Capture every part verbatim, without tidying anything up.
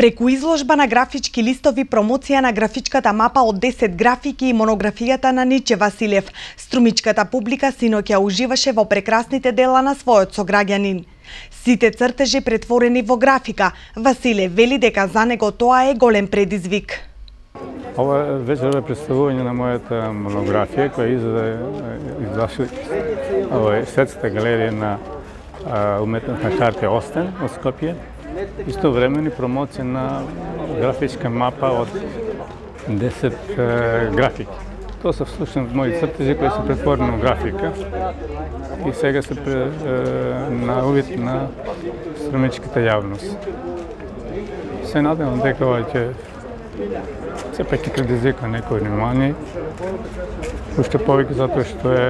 Преку изложба на графички листови, промоција на графичката мапа од десет графики и монографијата на Ниче Василев, струмичката публика синоќа уживаше во прекрасните дела на својот сограѓанин. Сите цртежи претворени во графика, Василев вели дека за него тоа е голем предизвик. Ова вечер е представување на мојата монографија која излезе во Светската галерија на уметност на хартија Остен од Скопје. Истовремено промоција на графичка мапа од десет графики. Тоа се всушност мои цртежи кои се претворени во графика и сега се на увид на струмичката јавност. Се надевам дека ова ќе се пак ќе предизвика некој внимание, уште повеќе затоа што е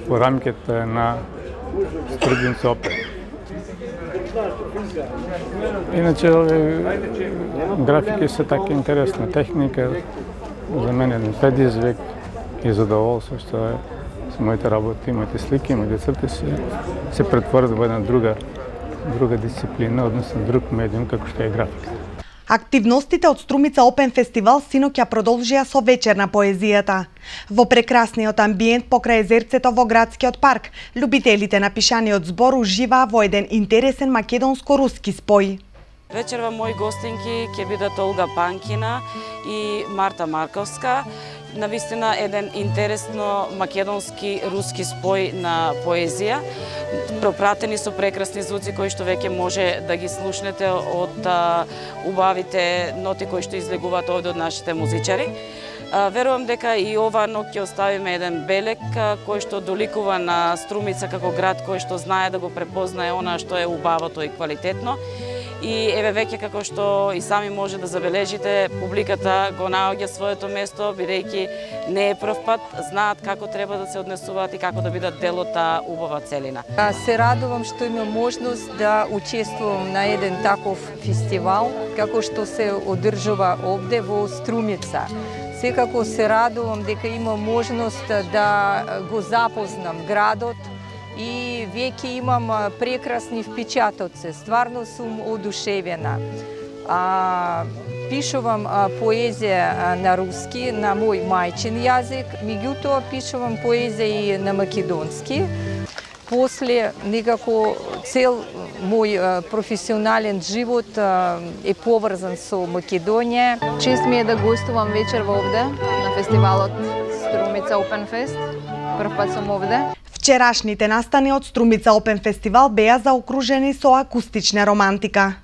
во рамките на Струмица опера. Иначе, графики се така интересна техника, за мен е предизвик и задоволство што е со моите работи, моите слики, моите црти се, се претворат во една друга, друга дисциплина, односно друг медиум како што е графика. Активностите од Струмица Опен фестивал синоќа продолжија со вечер на поезијата. Во прекрасниот амбиент покрај езерцето во градскиот парк, љубителите на пишаниот збор уживаа во еден интересен македонско-руски спој. Вечерва мои гостинки ќе бидат Олга Панкина и Марта Марковска. Навистина еден интересно македонски руски спој на поезија, пропратени со прекрасни звуци кои што веќе може да ги слушнете од а, убавите ноти кои што излегуваат овде од нашите музичари. А, верувам дека и ова ноќ ќе оставиме еден белег а, кој што доликува на Струмица како град кој што знае да го препознае она што е убавото и квалитетно. И еве веќе како што и сами може да забележите, публиката го наоѓа своето место, бидејќи не е прв пат, знаат како треба да се однесуваат и како да бидат дел од таа убава целина. Се радувам што имам можност да учествувам на еден таков фестивал, како што се одржува овде во Струмица. Секако се радувам дека имам можност да го запознам градот, и веќе имам прекрасни впечатоци, стварно сум одушевена. А, пишувам а, поезија на руски, на мој мајчин јазик, меѓутоа пишувам поезија и на македонски. После некако цел мој а, професионален живот а, е поврзан со Македонија. Чест ми е да гостувам вечер овде на фестивалот Струмица Опен Фест. Прв пат сум овде. Вчерашните настани од Струмица Опен фестивал беа заокружени со акустична романтика.